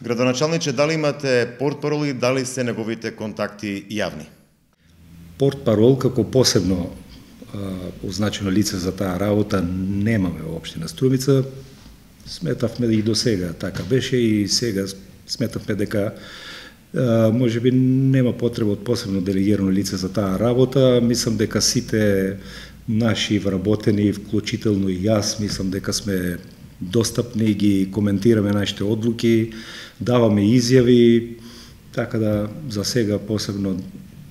Градоначалниче, дали имате портпарол и дали се неговите контакти јавни? Портпарол како посебно означено лице за таа работа немаме во општина Струмица. Сметавме и до сега така беше и сега сметавме дека можеби нема потреба од посебно делегирано лице за таа работа. Мислам дека сите наши вработени, вклучително и јас, мислам дека сме достапни, ги коментираме нашите одлуки, даваме изјави, така да за сега посебно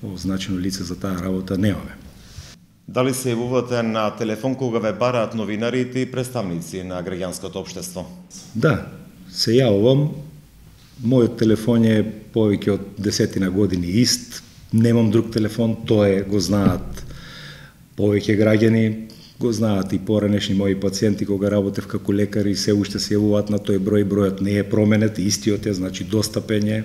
означено лице за таа работа немаме. Дали се јавувате на телефон кога ве бараат новинарите и представници на граѓанското општество? Да, се јавувам. Мојот телефон е повеќе од 10 години ист. Немам друг телефон, тоа го знаат повеќе граѓани, го знаат и поранешни мои пациенти кога работев како лекар и се уште се јавуваат на тој број, бројот не е променет, истиот е, значи достапен е.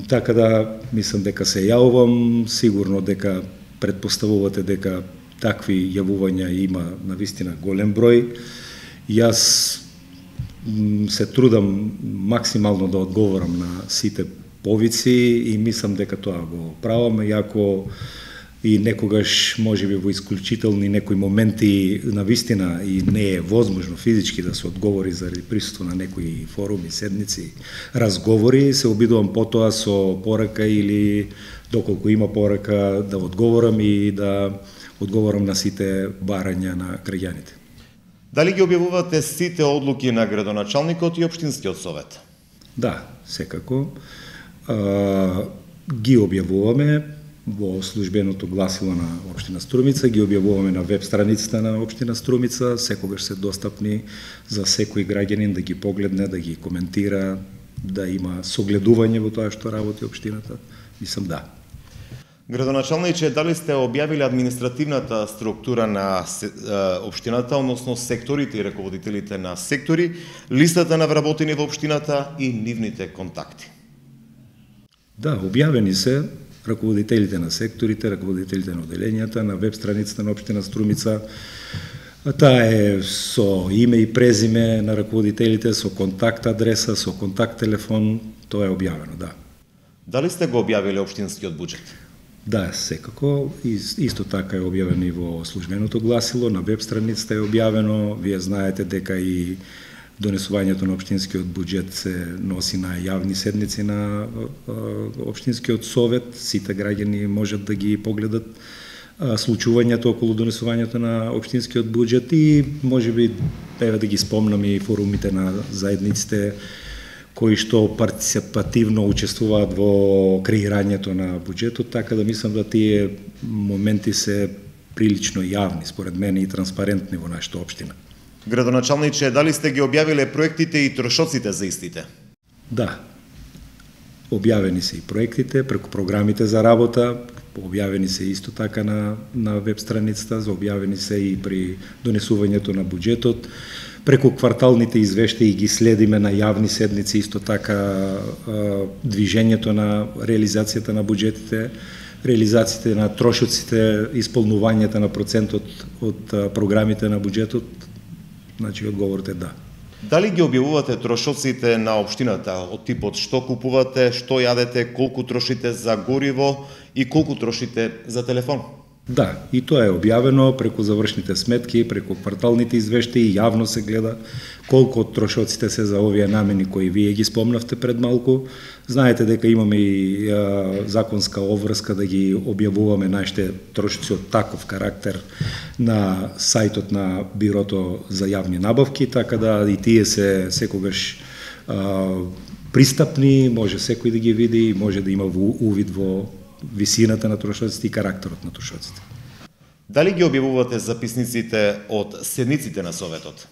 Така да мислам дека се јавувам, сигурно дека предпоставувате дека такви јавувања има навистина голем број. Јас се трудам максимално да одговорам на сите повици и мислам дека тоа го правам, иако и некогаш можеби во исклучителни некои моменти навистина и не е возможно физички да се одговори заради присуство на некои форуми, седници, разговори, се обидувам потоа со порака или доколку има порака да одговорам и да одговорам на сите барања на граѓаните. Дали ги објавувате сите одлуки на градоначалникот и општинскиот совет? Да, секако. Ги објавуваме во службеното гласило на општина Струмица, ги објавуваме на веб страницата на општина Струмица, секогаш се достапни за секој граѓанин да ги погледне, да ги коментира, да има согледување во тоа што работи општината. Мислам да. Градоначалниче, дали сте објавиле административната структура на општината, односно секторите и раководителите на сектори, листата на вработени во општината и нивните контакти? Да, објавени се раководителите на секторите, раководителите на оделенијата, на веб страницата на општина Струмица. Таа е со име и презиме на раководителите, со контакт адреса, со контакт телефон, тоа е објавено, да. Дали сте го објавиле општинскиот буџет? Да, секако. Исто така е објавено и во службеното гласило, на веб страницата е објавено. Вие знаете дека и донесувањето на општинскиот буџет се носи на јавни седници на општинскиот совет. Сите граѓани можат да ги погледат случувањето околу донесувањето на општинскиот буџет и можеби еве да ги спомнам и форумите на заедниците кои што партиципативно учествуваат во креирањето на буџетот, така да мислам да тие моменти се прилично јавни, според мене, и транспарентни во нашата општина. Градоначалниче, дали сте ги објавиле проектите и трошоците за истите? Да. Објавени се и проектите преку програмите за работа, објавени се исто така на веб страницата, објавени се и при донесувањето на буџетот, преку кварталните извештаи ги следиме на јавни седници, исто така движењето на реализацијата на буџетите, реализациите на трошоците, исполнувањето на процентот од програмите на буџетот. Значи, одговорот е да. Дали ги објавувате трошоците на општината од типот што купувате, што јадете, колку трошите за гориво и колку трошите за телефон? Да, и тоа е објавено преку завршните сметки, преку кварталните извештаи, јавно се гледа колку од трошоците се за овие намени кои вие ги спомнавте пред малку. Знаете дека имаме и законска обврска да ги објавуваме нашите трошоци од таков карактер на сајтот на Бирото за јавни набавки, така да и тие се секогаш пристапни, може секој да ги види, може да има увид во висината на трошоците и карактерот на трошоците. Дали ги објавувате записниците од седниците на Советот?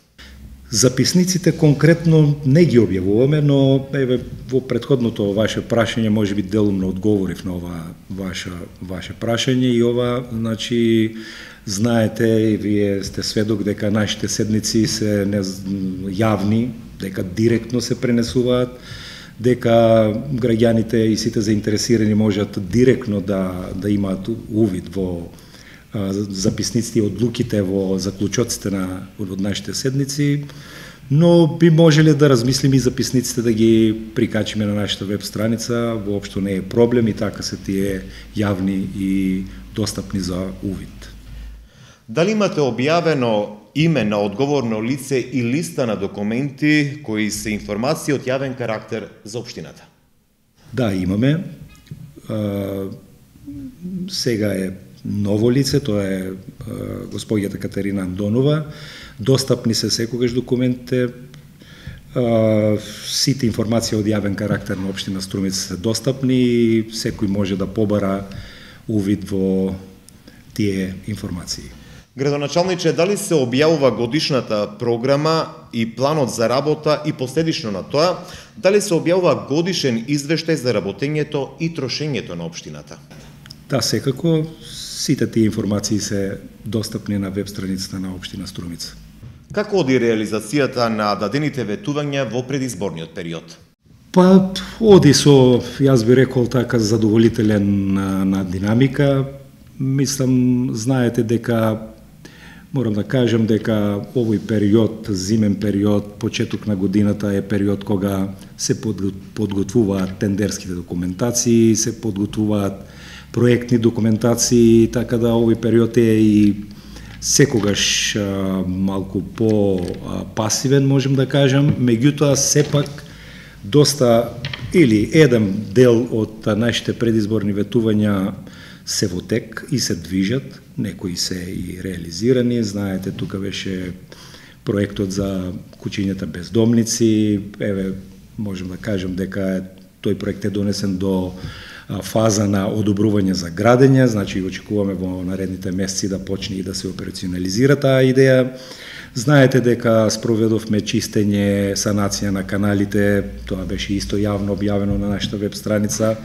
Записниците конкретно не ги објавуваме, но еве во претходното ваше прашање можеби делумно одговорив на ова ваше прашање и ова, значи, знаете и вие сте сведок дека нашите седници се јавни, дека директно се пренесуваат, дека граѓаните и сите заинтересирани можат директно да имаат увид во записниците и одлуките во заклучоците од нашите седници. Но би можеле да размислиме и записниците да ги прикачиме на нашата веб страница, воопшто не е проблем и така се тие јавни и достапни за увид. Дали имате објавено име на одговорно лице и листа на документи кои се информации од јавен карактер за општината? Да, имаме. Сега е ново лице, тоа е господјата Катерина Андонова. Достапни се секогаш документите, сите информации од јавен карактер на општина Струмица се достапни и секој може да побара увид во тие информации. Градоначалниче, дали се објавува годишната програма и планот за работа и последично на тоа, дали се објавува годишен извештај за работењето и трошењето на општината? Да, секако, сите тие информации се достапни на веб страницата на општина Струмица. Како оди реализацијата на дадените ветувања во предизборниот период? Па, оди со, јас би рекол така, задоволителен на динамика. Мислам, знаете дека морам да кажем дека овој период, зимен период, почеток на годината е период кога се подготвуваат тендерските документации, се подготвуваат проектни документации, така да овој период е и секогаш малку по-пасивен, можем да кажем, меѓутоа сепак доста или еден дел од нашите предизборни ветувања се во тек и се движат, некои се и реализирани. Знаете, тука беше проектот за куќињата бездомници, еве можем да кажем дека тој проект е донесен до фаза на одобрување за градење, значи очекуваме во наредните месеци да почне и да се операционализира таа идеја. Знаете дека спроведовме чистење, санација на каналите, тоа беше исто јавно објавено на нашата веб страница,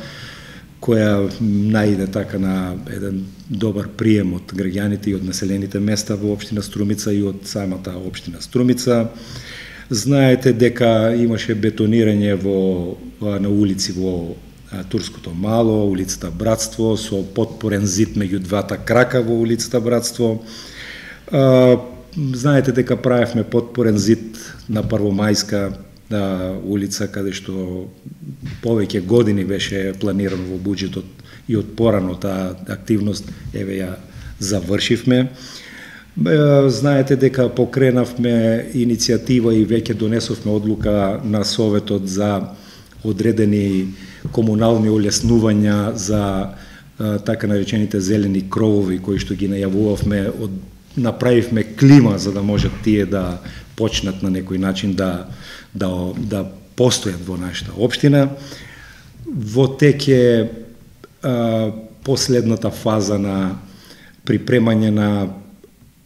која најде така на еден добар прием од граѓаните и од населените места во општина Струмица и од самата општина Струмица. Знаете дека имаше бетонирање на улици во Турското мало, улицата Братство, со потпорен зид меѓу двата крака во улицата Братство. Знаете дека правевме потпорен зид на Првомајска улица, каде што повеќе години беше планирано во буџетот и од порано таа активност, еве ја завршивме. Знаете дека покренавме иницијатива и веќе донесовме одлука на Советот за одредени комунални олеснувања за така наречените зелени кровови кои што ги најавувавме, направивме клима за да можат тие да почнат на некој начин да постојат во нашата општина. Во тек е последната фаза на припремање на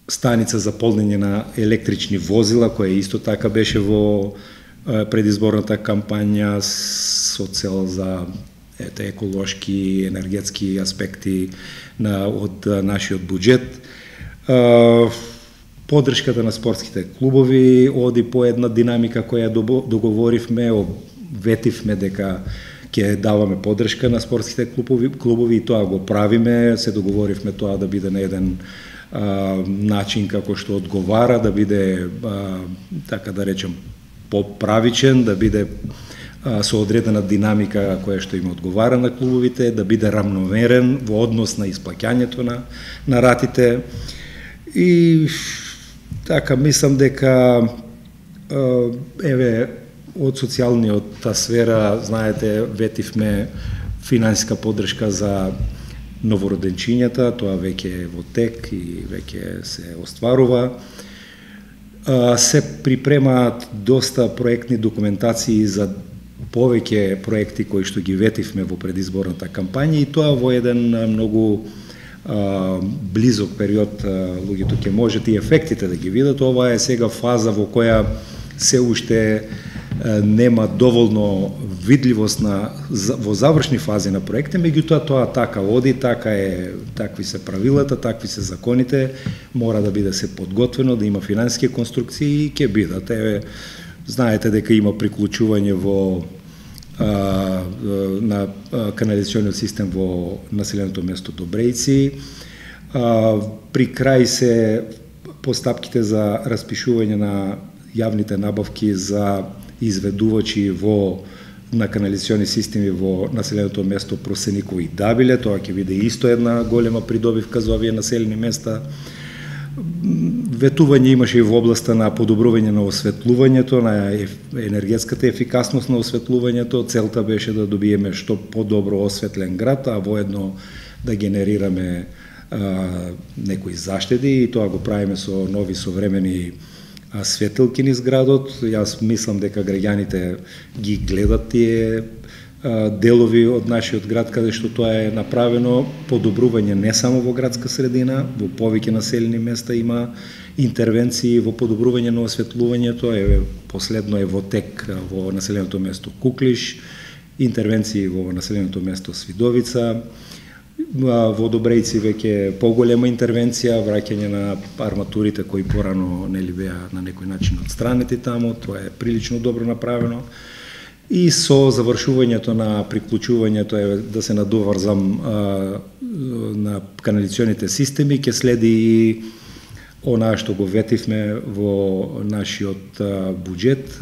станица за полнење на електрични возила, која исто така беше во предизборната кампања со цел за еколошки, енергетски аспекти од нашиот буџет. Поддршката на спортските клубови оди по една динамика која договоривме, ветивме дека ќе даваме поддршка на спортските клубови и тоа го правиме, се договоривме тоа да биде на еден начин како што одговара, да биде, така да речем, поправичен, да биде со одредена динамика која што им одговара на клубовите, да биде рамномерен во однос на исплаќањето на ратите. И така, мислам дека еве од социјалниот сфера, знаете, ветивме финансиска поддршка за новороденчињата, тоа веќе е во тек и веќе се остварува. Се припремаат доста проектни документации за повеќе проекти кои што ги ветивме во предизборната кампања и тоа во еден многу близок период луѓето ќе можат и ефектите да ги видат. Ова е сега фаза во која се уште нема доволно видливост во завршни фази на проекти, меѓутоа тоа така оди, такви се правилата, такви се законите, мора да биде се подготвено, да има финансиски конструкции и ќе бидат. Знаете дека има приклучување на канализационниот систем во населеното место Добрејци. При крај се постапките за распишување на јавните набавки за изведувачи на канализациони системи во населеното место Просениково и Дабиле. Тоа ќе биде исто една голема придобивка за овие населени места. Ветување имаше и во областа на подобрување на осветлувањето, на енергетската ефикасност на осветлувањето. Целта беше да добиеме што подобро осветлен град, а воедно да генерираме некои заштеди, и тоа го правиме со нови современи светилки низ градот. Јас мислам дека граѓаните ги гледат тие делови од нашиот град каде што тоа е направено. Подобрување не само во градска средина, во повеќе населени места има интервенции во подобрување на осветлувањето. Последно е во тек во населеното место Куклиш, интервенции во населеното место Свидовица, во Добрејци веќе поголема интервенција, враќање на арматурите кои порано нели беа на некој начин отстранети таму. Тоа е прилично добро направено. И со завршувањето на приклучувањето да се надоврзам на канализационите системи, ќе следи и онаа што го ветивме во нашиот буџет,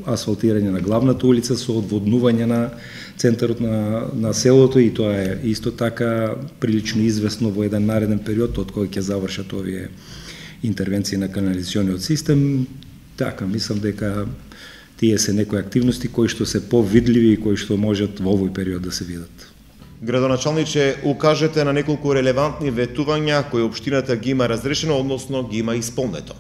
асфалтирање на главната улица со одводнување на центарот на селото, и тоа е исто така прилично известно во еден нареден период од кој ќе завршат овие интервенции на канализациониот систем. Така, мислам дека тие се некои активности кои што се повидливи и кои што можат во овој период да се видат. Градоначалниче, укажете на неколку релевантни ветувања кои општината ги има разрешено, односно ги има исполнето.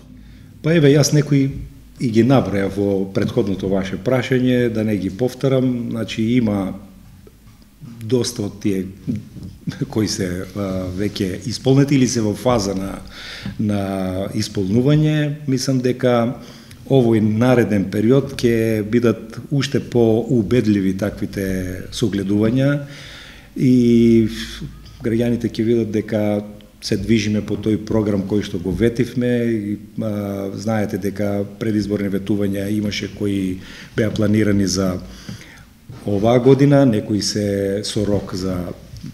Па еве, јас некои и ги наброја во претходното ваше прашање, да не ги повторам. Значи, има доста од тие кои се веќе исполнети или се во фаза на исполнување. Мислам дека овој нареден период ќе бидат уште поубедливи таквите согледувања и граѓаните ќе видат дека се движиме по тој програм кој што го ветивме. Знаете дека предизборни ветувања имаше кои беа планирани за оваа година, некои се со рок за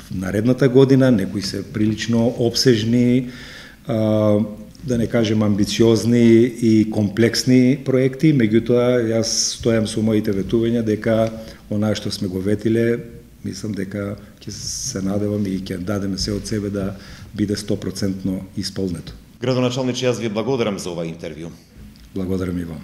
наредната година, некои се прилично обсежни, да не кажем амбициозни и комплексни проекти. Меѓутоа, јас стојам со моите ветувања дека онаа што сме го ветиле, мислам дека ќе се надевам и ќе дадеме се од себе да биде 100% исполнето. Градоначалниче, јас ви благодарам за ова интервју. Благодарам и вам.